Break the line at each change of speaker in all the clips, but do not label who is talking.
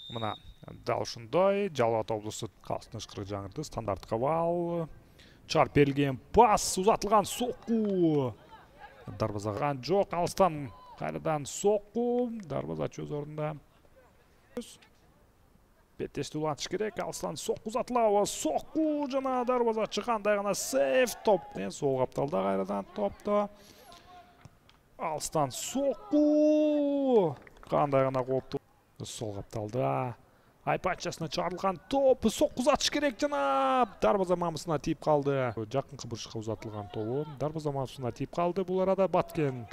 Мына дал ушундай Жалал Абад облусу калыстын ышкырык жаңырды. Стандарттык абал. Чыгарып берилген пас, узатылган сокку. Дарбазага жок, алыстан кайрадан сокку. Дарбазачы өз ордунда. Беттешти улантыш керек. Алыстан сокку узатылабы. Сокку жана дарбазачы кандай гана сейф топ. Сол капталда кайрадан топто. Алыстан сокку. Кандай гана кооптуу. Сол капталда. Айпачасына чыгарылган топ. Сокку узатыш керек жана дарбаза мамысына тийип калды. Жакынкы бурчка узатылган тобу дарбаза мамысына тийип калды. Бул арада Баткен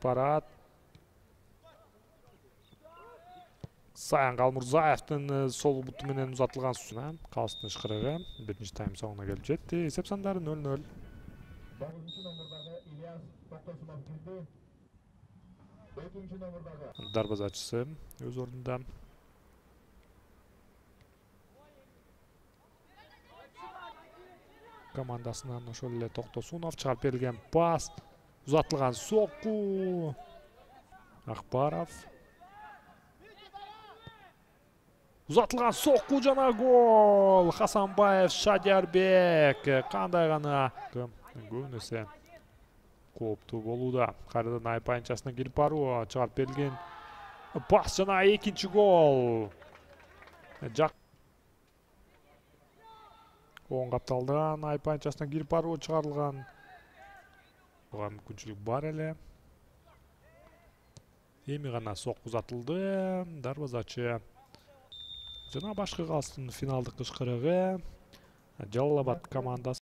барат. Саян Калмурзаевдин сол буту менен узатылган сууна калыстын ышкырыгы биринчи тайм соңуна келип жетти. Эсеп сандары 0-0. Дарбазачысы өз ордунда. Командасынан ошол эле Токтосунов чыгарып берилген пас, узатылган сокку. Акбаров. Узатылган сокку жана гол. Хасанбаев, Шадиярбек. Кандай гана көбүнесе кооптуу болууда. Кайрадан Айпанчасына кирип баруу, чыгарып берилген пас жана экинчи гол. Оң капталдан Айпанчасына кирип баруу чыгарылган. Буга мүмкүнчүлүк бар эле. Эми гана сокку узатылды. Дарбазачы жана башкы калыстын финалдык ышкырыгы Жалал Абад командасы.